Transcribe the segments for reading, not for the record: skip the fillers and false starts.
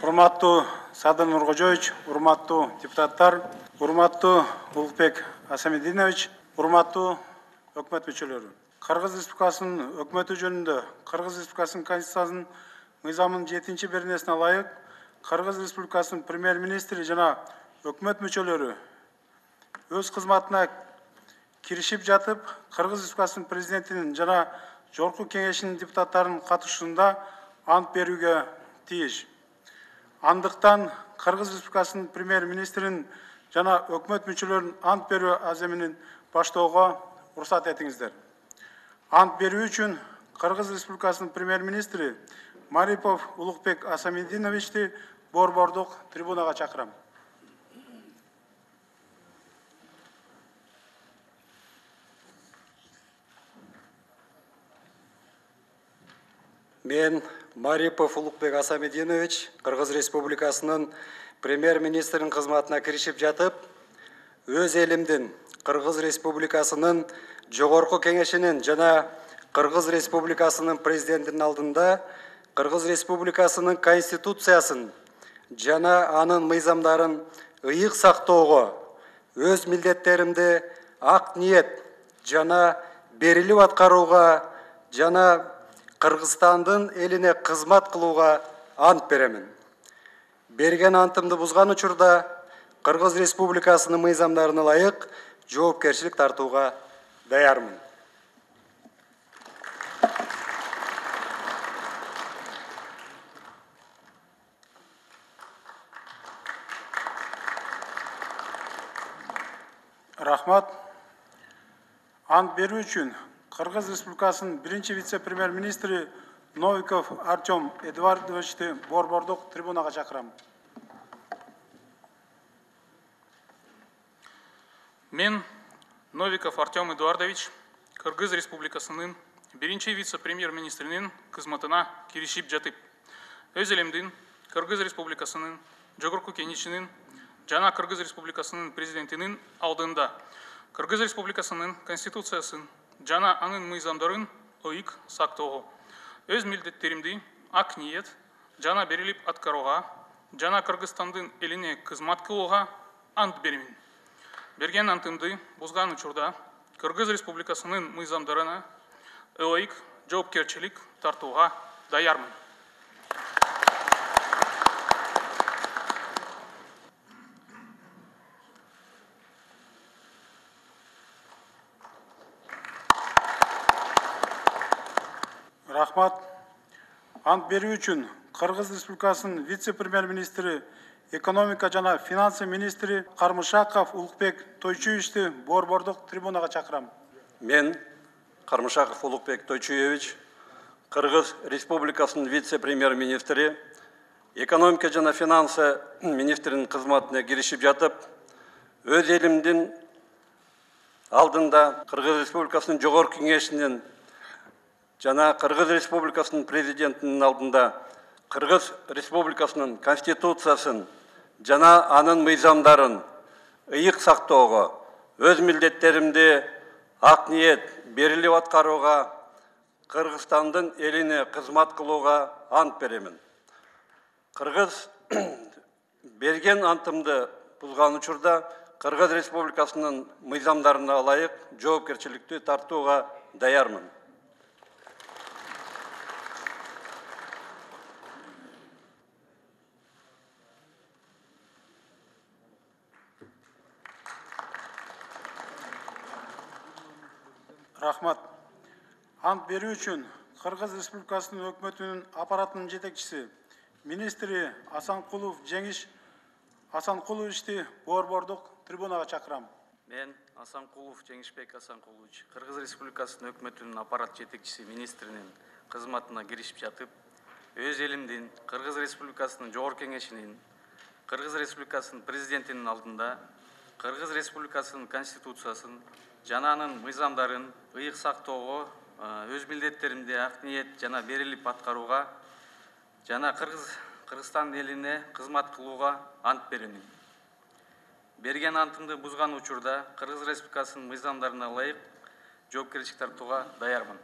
Урматтуу Садыр Нуркожоевич, урматтуу депутаттар, урматтуу Улукбек Асамединович, урматтуу өкмөт мүчөлөрү. Кыргыз Республикасынын өкмөтү жөнүндө Кыргыз Республикасынын Конституциясынын мыйзамынын 7-беренесине ылайык Кыргыз Республикасынын премьер-министри жана өкмөт мүчөлөрү өз кызматына киришип жатып, Кыргыз Республикасынын президентинин жана Жогорку Кеңешинин депутаттарынын катышуусунда ант берүүгө тийиш. Андыктан Кыргыз Республикасынын премьер-министринин жана өкмөт мүчөлөрүнүн ант берүү аземинин баштоого уруксат этиңиздер. Ант берүү үчүн Кыргыз Республикасынын премьер-министри Марипов Улукбек Асамединовичти борбордук трибунага чакырам. Мен Марипов Улукбек Асамединович Кыргыз Республикасынын премьер-министринин кызматына киришип жатып, өз элимдин Кыргыз Республикасынын Жогорку Кеңешинин жана Кыргыз Республикасынын президентинин алдында Кыргыз Республикасынын Конституциясын жана анын мыйзамдарын ыйык сактоого, өз милдеттеримди ак ниет жана берилип аткарууга жана Кыргызстандын элине кызмат кылууга ант беремин. Берген антымды бузган учурда Кыргыз Республикасынын мыйзамдарына ылайык жоопкерчилик тартууга даярмын. Рахмат. Ант берүү үчүн Кыргыз Республикасынын биринчи вице-премьер-министри Новиков Артем Эдуардовичти борбордук трибунага чакырам. Мен Новиков Артем Эдуардович Кыргыз Республикасынын биринчи вице-премьер-министринин кызматына киришип жатып, өз элимдин Кыргыз Республикасынын Жогорку Кеңешинин жана Кыргыз Республикасынын президентинин алдында Кыргыз Республикасынын Конституциясын жана анын мыйзамдарын ыйык сактоого, өз милдеттеримди ак ниет жана берилип аткарууга жана Кыргызстандын элине кызмат кылууга ант беремин. Берген антымды бузган учурда Кыргыз Республикасынын мыйзамдарына ылайык жоопкерчилик тартууга даярмын. Рахмат. Ант берүү үчүн Кыргыз Республикасынын вице-премьер-министри, экономика жана финансы министри Кармышаков Улукбек Тойчуевичти борбордук трибунага чакырам. Мен Кармышаков Улукбек Тойчуевич Кыргыз Республикасынын вице-премьер-министри, экономика жана финансы министринин кызматына киришип жатып, өз элимдин алдында Кыргыз Республикасынын Жогорку Кеңешинин жана Кыргыз Республикасынын президентинин алдында Кыргыз Республикасынын Конституциясын жана анын мыйзамдарын ыйык сактоого, өз милдеттеримди ак ниет берилип аткарууга, Кыргызстандын элине кызмат кылууга ант беремин. Кыргыз берген антымды бузган учурда Кыргыз Республикасынын мыйзамдарына ылайык жоопкерчиликти тартууга даярмын. Рахмат. Ант берүү үчүн Кыргыз Республикасынын өкмөтүнүн аппаратынын жетекчиси, министри Асанкулов Жеңиш Асанкуловичти борбордук трибунага чакырам. Мен Асанкулов Жеңишбек Асанкулович Кыргыз Республикасынын өкмөтүнүн аппарат жетекчиси министринин кызматына киришип жатып, өз элимдин Кыргыз Республикасынын Жогорку Кеңешинин, Кыргыз Республикасынын президентинин алдында Кыргыз Республикасынын Конституциясын жана анын мыйзамдарын ыйык сактоого, өз милдеттеримди ак ниет жана берилип аткарууга жана Кыргызстан элине кызмат кылууга ант беремин. Берген антымды бузган учурда Кыргыз Республикасынын мыйзамдарына ылайык жоопкерчилик тартууга даярмын.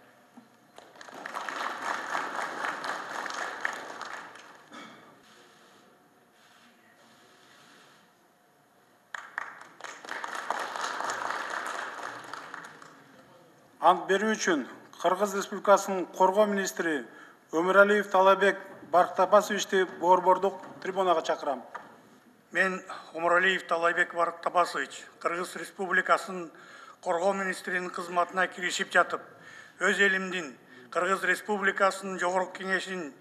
ант берүү үчүн Кыргыз Республикасынын Коргоо министри Өмүралиев Талайбек Барктабасовичти борбордук трибунага чакырам. Мен Өмүралиев Талайбек Барктабасович Кыргыз Республикасынын Коргоо министринин кызматына киришип жатып, өз элимдин Кыргыз Республикасынын Жогорку Кеңешинин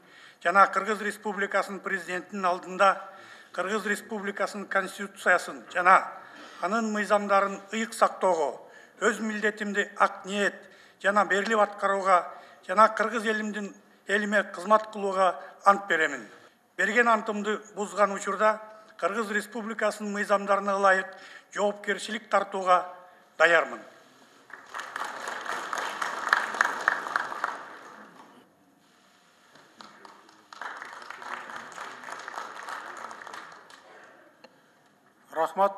жана Кыргыз Республикасынын президентинин алдында Кыргыз Республикасынын Конституциясын жана анын мыйзамдарын ыйык сактоого, өз милдетимди ак ниет жана берилип аткарууга жана Кыргыз элиме кызмат кылууга ант беремин. Берген антымды бузган учурда Кыргыз Республикасынын мыйзамдарына ылайык жоопкерчилик тартууга даярмын. Рахмат.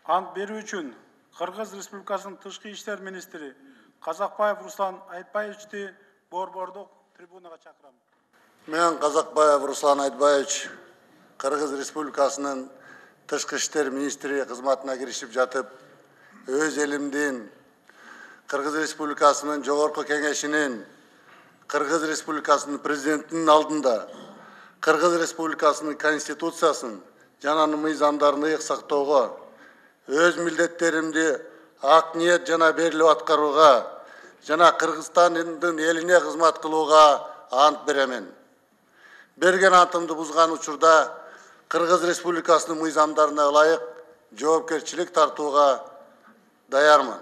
Ант берүү үчүн Кыргыз Республикасынын Тышкы иштер министри Казакбаев Руслан Айтбаевичти борбордук трибунага чакырам. Мен Казакбаев Руслан Айтбаевич Кыргыз Республикасынын Тышкы иштер министри кызматына киришип жатып, өз элимдин Кыргыз Республикасынын Жогорку Кеңешинин, Кыргыз Республикасынын президентинин алдында Кыргыз Республикасынын Конституциясын жана анын мыйзамдарын ыйык сактоого, өз милдеттеримди ак ниет жана берилип аткарууга жана Кыргызстандын элине кызмат кылууга ант беремин. Берген антымды бузган учурда Кыргыз Республикасынын мыйзамдарына ылайык жоопкерчилик тартууга даярмын.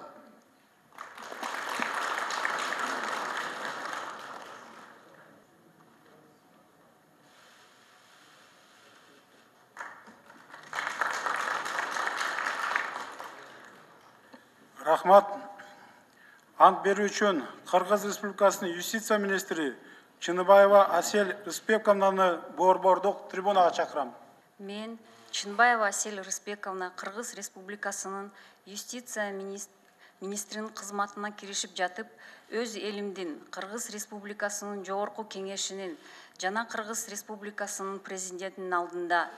Рахмат. Ант берүү үчүн Кыргыз Республикасынын юстиция министри Чыныбаева Асель Рысбековнаны борбордук трибунага чакырам. Мен Чынбаева Асель Рысбековна Кыргыз Республикасынын юстиция министринин кызматына киришип жатып, өз элимдин Кыргыз Республикасынын Жогорку Кеңешинин жана Кыргыз Республикасынын президентинин алдында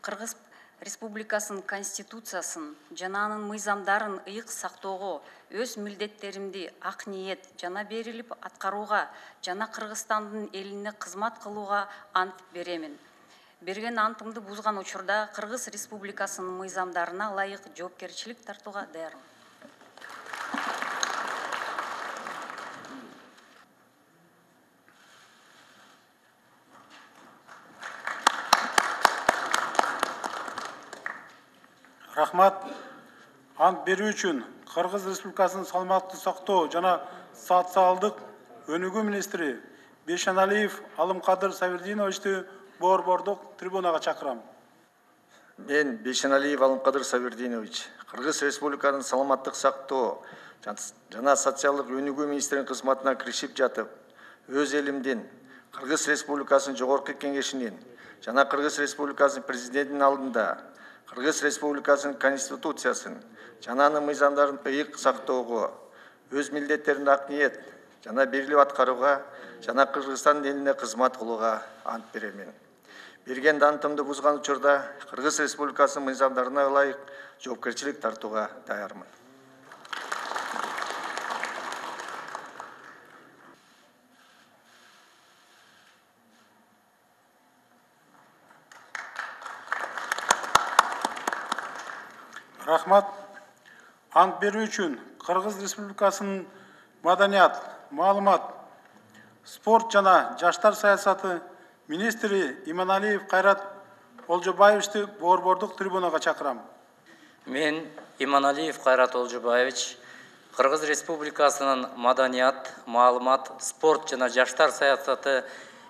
Кыргыз Республикасынын Конституциясын жана анын мыйзамдарын ыйык сактоого, өз милдеттеримди ак ниет жана берилип аткарууга жана Кыргызстандын элине кызмат кылууга ант беремин. Берген антымды бузган учурда Кыргыз Республикасынын мыйзамдарына ылайык жоопкерчилик тартууга даярмын. Рахмат. Ант берүү үчүн Кыргыз Республикасынын саламаттык сактоо жана социалдык өнүгүү министри Бейшеналиев Алымкадыр Сабирдиновичти борбордук трибунага чакырам. Мен Бейшеналиев Алымкадыр Сабирдинович Кыргыз Республикасынын саламаттык сактоо жана социалдык өнүгүү министринин кызматына киришип жатып, өз элимдин Кыргыз Республикасынын Жогорку Кеңешинин жана Кыргыз Республикасынын президентинин алдында Кыргыз Республикасынын Конституциясын жана анын мыйзамдарын ыйык сактоого, өз милдеттерин ак ниет жана берилип аткарууга жана Кыргызстандын элине кызмат кылууга ант беремин. Берген антымды бузган учурда Кыргыз Республикасынын мыйзамдарына ылайык жоопкерчилик тартууга даярмын. Рахмат. Ант берүү үчүн Кыргыз Республикасынын маданият, маалымат, спорт жана жаштар саясаты министри Иманалиев Кайрат Олжобаевичти борбордук трибунага чакырам. Мен Иманалиев Кайрат Олжобаевич Кыргыз Республикасынын маданият, маалымат, спорт жана жаштар саясаты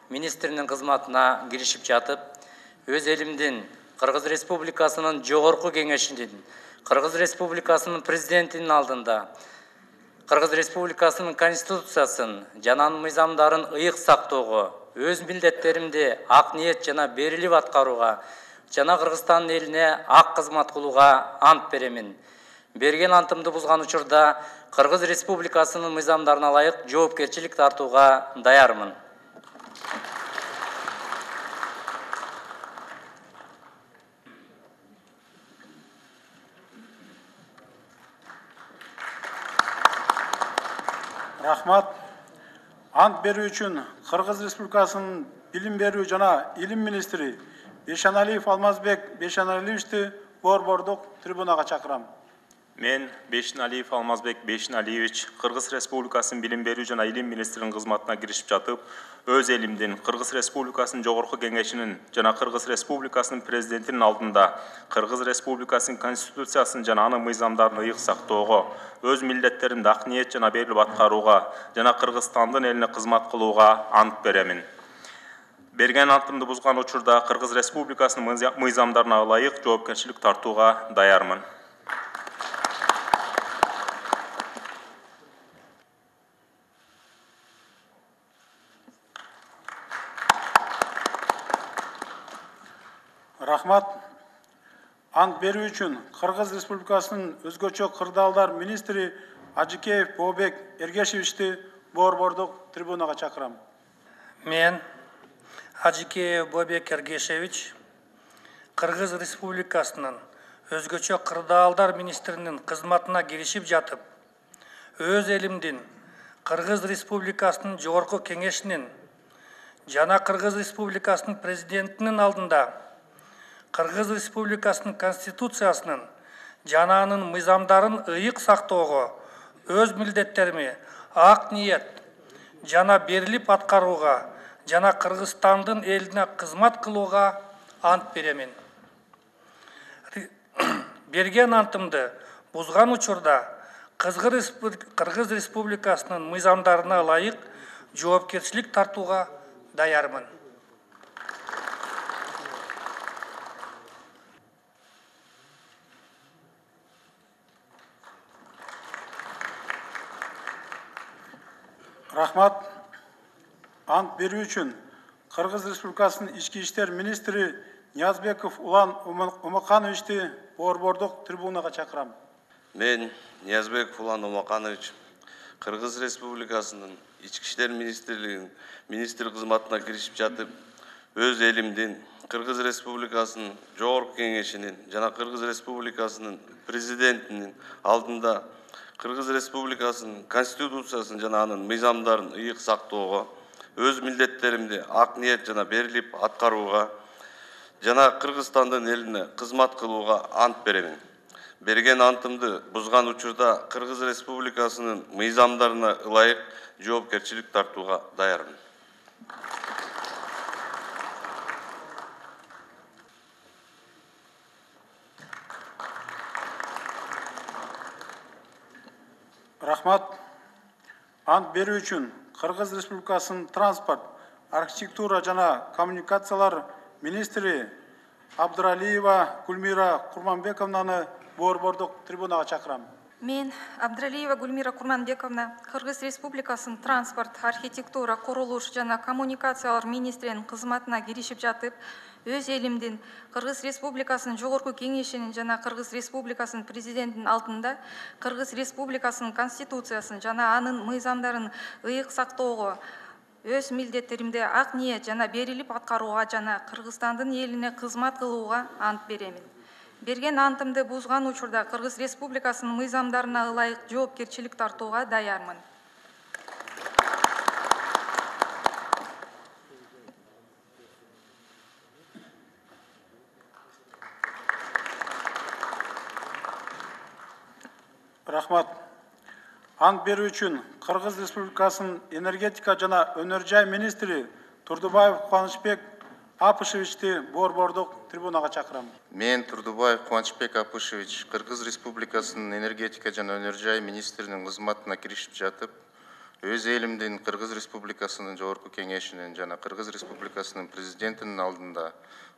министринин кызматына киришип жатып, өз элимдин Кыргыз Республикасынын Жогорку Кеңешинин, Кыргыз Республикасынын президентинин алдында Кыргыз Республикасынын Конституциясын жана анын мыйзамдарын ыйык сактоого, өз милдеттеримди ак ниет жана берилип аткарууга жана Кыргызстандын элине ак кызмат кылууга ант беремин. Берген антымды бузган учурда Кыргыз Республикасынын мыйзамдарына ылайык жоопкерчилик тартууга даярмын. Рахмат. Ант берүү үчүн Кыргыз Республикасынын билим берүү жана илим министри Бейшеналиев Алмазбек Бейшеналиевичти борбордук трибунага чакырам. Мен Бейшеналиев Алмазбек Бейшеналиевич Кыргыз Республикасынын билим берүү жана илим министринин кызматына киришип жатып, өз элимдин Кыргыз Республикасынын жогорку кеңешинин жана Кыргыз Республикасынын президентинин алдында Кыргыз Республикасынын конституциясын жана анын мыйзамдарын ыйык сактоого, өз милдеттеримди ак ниет жана берилип аткарууга жана Кыргызстандын элине кызмат кылууга ант беремин. Берген антымды бузган учурда Кыргыз Республикасынын мыйзамдарына ылайык жоопкерчилик тартууга даярмын. Рахмат. Ант берүү үчүн Кыргыз Республикасынын өзгөчө кырдаалдар министри Ажикеев Бообек Эргешевичти борбордук трибунага чакырам. Мен Ажикеев Бообек Эргешевич Кыргыз Республикасынын өзгөчө кырдаалдар министринин кызматына киришип жатып, өз элимдин Кыргыз Республикасынын жогорку кеңешинин жана Кыргыз Республикасынын президентинин алдында Кыргыз Республикасынын конституциясынын жана анын мыйзамдарын ыйык сактоого, өз милдеттерими ак ниет жана берилип аткарууга жана Кыргызстандын элине кызмат кылууга ант беремин. Берген антымды бузган учурда Кыргыз Республикасынын мыйзамдарына ылайык жоопкерчилик тартууга даярмын. Рахмат. Ант берүү үчүн Кыргыз Республикасынын ички иштер министри Ниязбеков Улан Умакановичти борбордук трибунага чакырам. Мен Ниязбеков Улан Умаканович Кыргыз Республикасынын ички иштер министрлигинин министр кызматына киришип жатып, өз элимдин Кыргыз Республикасынын жогорку кеңешинин жана Кыргыз Республикасынын президентинин алдында Кыргыз Республикасынын конституциясын жана анын мыйзамдарын ыйык сактоого, өз милдеттеримди ак ниет жана берилип аткарууга жана Кыргызстандын элине кызмат кылууга ант беремин. Берген антымды бузган учурда Кыргыз Республикасынын мыйзамдарына ылайык жоопкерчилик тартууга даярмын. Рахмат. Ант берүү үчүн Кыргыз Республикасынын транспорт, архитектура жана коммуникациялар министри Абдыралиева Гүлмира Курманбековнаны борбордук трибунага чакырам. Мен Абдыралиева Гүлмира Курманбековна Кыргыз Республикасынын транспорт, архитектура, курулуш жана коммуникациялар министринин кызматына киришип жатып, өз элимдин Кыргыз Республикасынын жогорку кеңешинин жана Кыргыз Республикасынын президентинин алдында Кыргыз Республикасынын конституциясын жана анын мыйзамдарын ыйык сактоого, өз милдеттеримди ак ниет жана берилип аткарууга жана Кыргызстандын элине кызмат кылууга ант беремин. Берген антымды бузган учурда Кыргыз Республикасынын мыйзамдарына ылайык жоопкерчилик тартууга даярмын. Рахмат. Ант берүү үчүн Кыргыз Республикасынын энергетика жана өнөр жай министри Турдубаев Кубанычбек Апышевичти борбордук трибунага чакырам. Мен Турдубаев Кубанычбек Апышевич Кыргыз Республикасынын энергетика жана өнөр жай министринин кызматына киришип жатып, өз элимдин Кыргыз Республикасынын жогорку кеңешинин жана Кыргыз Республикасынын президентинин алдында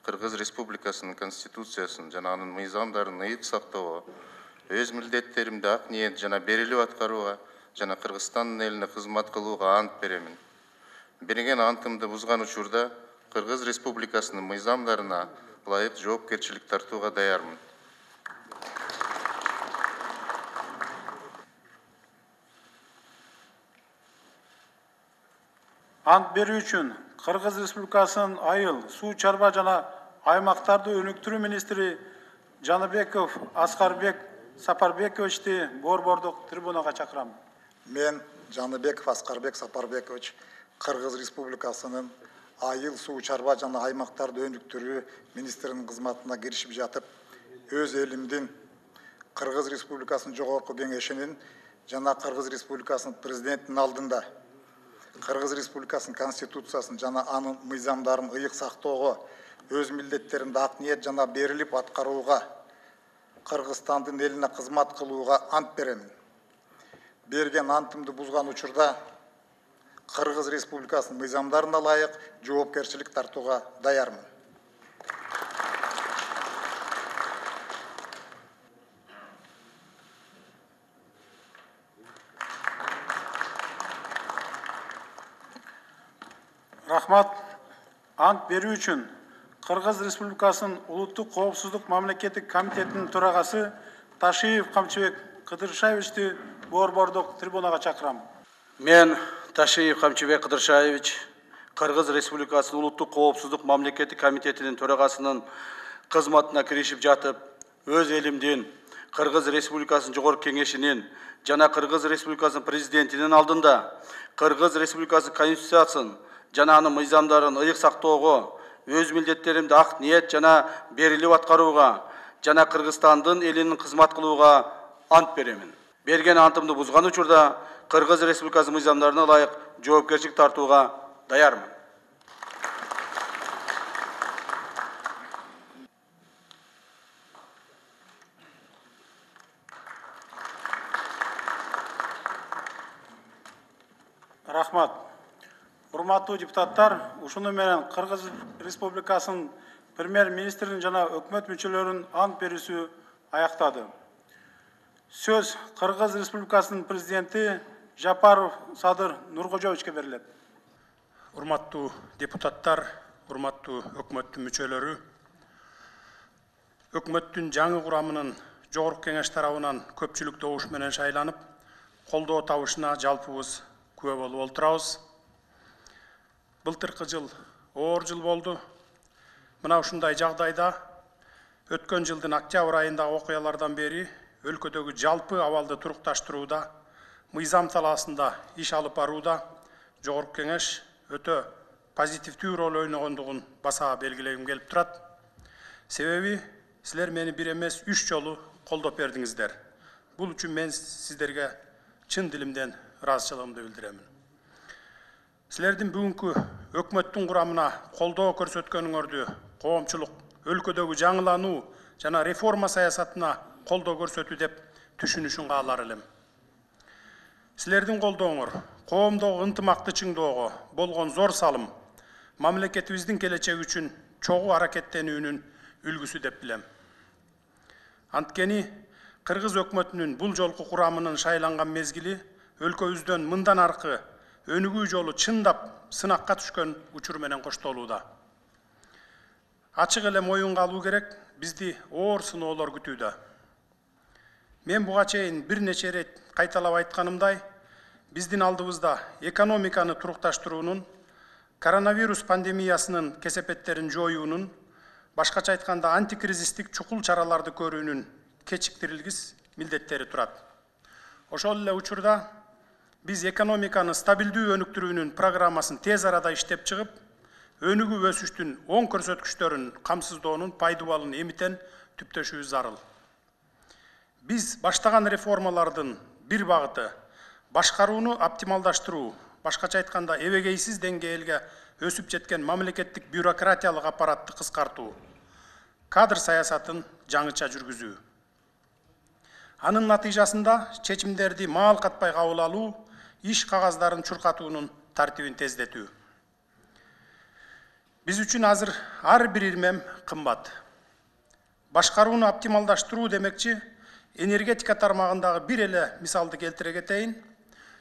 Кыргыз Республикасынын конституциясын жана анын мыйзамдарын ыйык сактоого, өз милдеттеримди ак ниет жана берилип аткарууга жана Кыргызстандын элине кызмат кылууга ант беремин. Берген антымды бузган учурда Кыргыз Республикасынын мыйзамдарына ылайык жоопкерчилик тартууга даярмын. Ант берүү үчүн Кыргыз Республикасынын айыл, суу чарба жана аймактарды өнүктүрүү министри Жаныбеков Аскарбек Сапарбековичти борбордук трибунага чакырам. Мен Жаныбеков Аскарбек Сапарбекович Кыргыз Республикасынын айыл суу чарба жана аймактарды өнүктүрүү министринин кызматына киришип жатып, өз элимдин Кыргыз Республикасынын жогорку кеңешинин жана Кыргыз Республикасынын президентинин алдында Кыргыз Республикасынын конституциясын жана анын мыйзамдарын ыйык сактоого, өз милдеттеримди ак ниет жана берилип аткарууга, Кыргызстандын элине кызмат кылууга ант беремин. Берген антымды бузган учурда Кыргыз Республикасынын мыйзамдарына ылайык жоопкерчилик тартууга даярмын. Рахмат. Ант берүү үчүн Кыргыз Республикасынын Улуттук коопсуздук мамлекеттик комитетинин төрагасы Ташиев Камчыбек Кыдыршаевичти борбордук трибунага чакырам. Мен Ташиев Камчыбек Кыдыршаевич, Кыргыз Республикасынын Улуттук коопсуздук мамлекеттик комитетинин төрагасынын кызматына киришип жатып, өз элимдин Кыргыз Республикасынын жогорку кеңешинин жана Кыргыз Республикасынын президентинин алдында Кыргыз Республикасынын конституциясын жана анын мыйзамдарын ыйык сактоого, өз милдеттеримди ак ниет жана берилип аткарууга жана Кыргызстандын элинин кызмат кылууга ант беремин. Берген антымды бузган учурда Кыргыз Республикасынын мыйзамдарына ылайык жоопкерчилик тартууга даярмын. Рахмат. Урматтуу депутаттар, ушуну менен Кыргыз Республикасынын премьер-министринин жана өкмөт мүчөлөрүнүн ант берүүсү аяктады. Сөз Кыргыз Республикасынын президенти Жапаров Садыр Нуркожоевичке берилет. Урматтуу депутаттар, урматтуу өкмөттүн мүчөлөрү, өкмөттүн жаңы курамынын жогорку кеңеш тарабынан көпчүлүк добуш менен шайланып, колдоо табышына жалпыбыз күбө болуп отурабыз. Былтыркы жыл оор жыл болду. Мына ушундай жагдайда өткөн жылдын октябрь айындагы окуялардан бери өлкөдөгү жалпы абалды турукташтырууда, мыйзам талаасында иш алып барууда жогорку кеңеш өтө позитивдүү роль ойногондугун баса белгилегим келип турат. Себеби силер мени бир эмес 3 жолу колдоп бердиңиздер. Бул үчүн мен сиздерге чын дилимден ыраазычылыгымды билдиремин. Силердин бүгүнкү өкмөттүн курамына колдоо көрсөткөнүңөрдү коомчулук өлкөдөгү жаңылануу жана реформа саясатына колдоо көрсөтүү деп түшүнүшүн каалар элем. Силердин колдооңор коомдогу ынтымакты чыңдоого болгон зор салым мамлекетибиздин келечеги үчүн чогуу аракеттенүүнүн үлгүсү деп билем. Анткени Кыргыз өкмөтүнүн бул жолку курамынын шайланган мезгили өлкөбүздөн мындан аркы өнүгүү жолу чындап сынакка түшкөн учур менен коштолууда. Ачык эле моюнга алуу керек, бизди оор сыноолор күтүүдө. Мен буга чейин бир нече ирет кайталап айтканымдай, биздин алдыбызда экономиканы турукташтыруунун, коронавирус пандемиясынын кесепеттерин жоюунун, башкача айтканда антикризистик чукул чараларды көрүүнүн кечиктирилгис милдеттери турат. Ошол эле учурда биз экономиканы стабилдүү өнүктүрүүнүн программасын тез арада иштеп чыгып, өнүгүү өсүштүн оң көрсөткүчтөрүн камсыздоонун пайдубалын эмитен түптөшүбүз зарыл. Биз баштаган реформалардын бир багыты башкарууну оптималдаштыруу, башкача айтканда эбегейсиз деңгээлге өсүп жеткен мамлекеттик бюрократиялык аппаратты кыскартуу, кадр саясатын жаңыча жүргүзүү. Анын натыйжасында чечимдерди маал катпай кабыл алуу, иш кагаздарын чуркатуунун тартибин тездетүү. Биз үчүн азыр ар бир ирмем кымбат. Башкарууну оптималдаштыруу демекчи, энергетика тармагындагы бир эле мисалды келтире кетейин.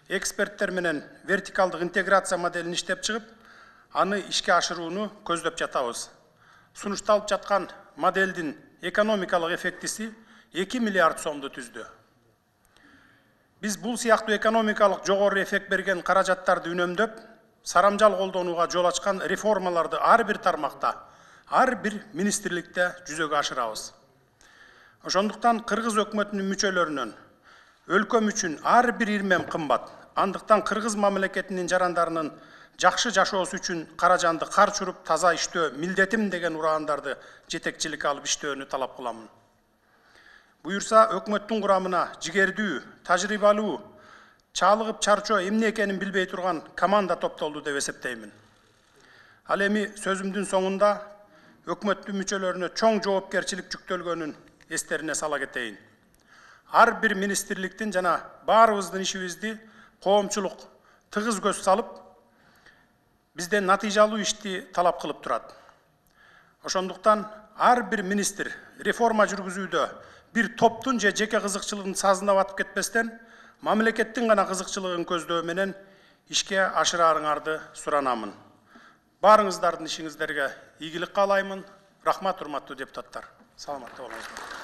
Эксперттер менен вертикалдык интеграция моделин иштеп чыгып, аны ишке ашырууну көздөп жатабыз. Сунушталып жаткан моделдин экономикалык эффектиси 2 миллиард сомду түздү. Биз бул сыяктуу экономикалык жогору эффект берген каражаттарды үнөмдөп, сарамжал колдонууга жол ачкан реформаларды ар бир тармакта, ар бир министрликте жүзөгө ашырабыз. Ошондуктан Кыргыз өкмөтүнүн мүчөлөрүнөн өлкөм үчүн ар бир ирмем кымбат, Андыктан кыргыз мамлекетинин жарандарынын жакшы жашоосу үчүн кара жанды кар чуруп таза иштөө милдетим деген ураандарды жетекчиликке алып иштөөнү талап кыламын. Буюрса, өкмөттүн курамына жигердүү, тажрыйбалуу, чалыгып чарчоо эмне экенин билбей турган команда топтолду деп эсептеймин. Ал эми сөзүмдүн соңунда өкмөттүн мүчөлөрүнө чоң жоопкерчилик жүктөлгөнүн эстерине сала кетейин. Ар бир министрликтин жана баарыбыздын ишибизди коомчулук тыгыз көз салып, бизден натыйжалуу ишти талап кылып турат. Ошондуктан ар бир министр реформа жүргүзүүдө бир топтун же жеке кызыкчылыгын сазына батып кетпестен, мамлекеттин гана кызыкчылыгын көздөө менен ишке ашыраарыңарды суранамын. Баарыңыздардын ишиңиздерге ийгилик каалаймын. Рахмат, урматтуу депутаттар. Саламатта болуңуздар.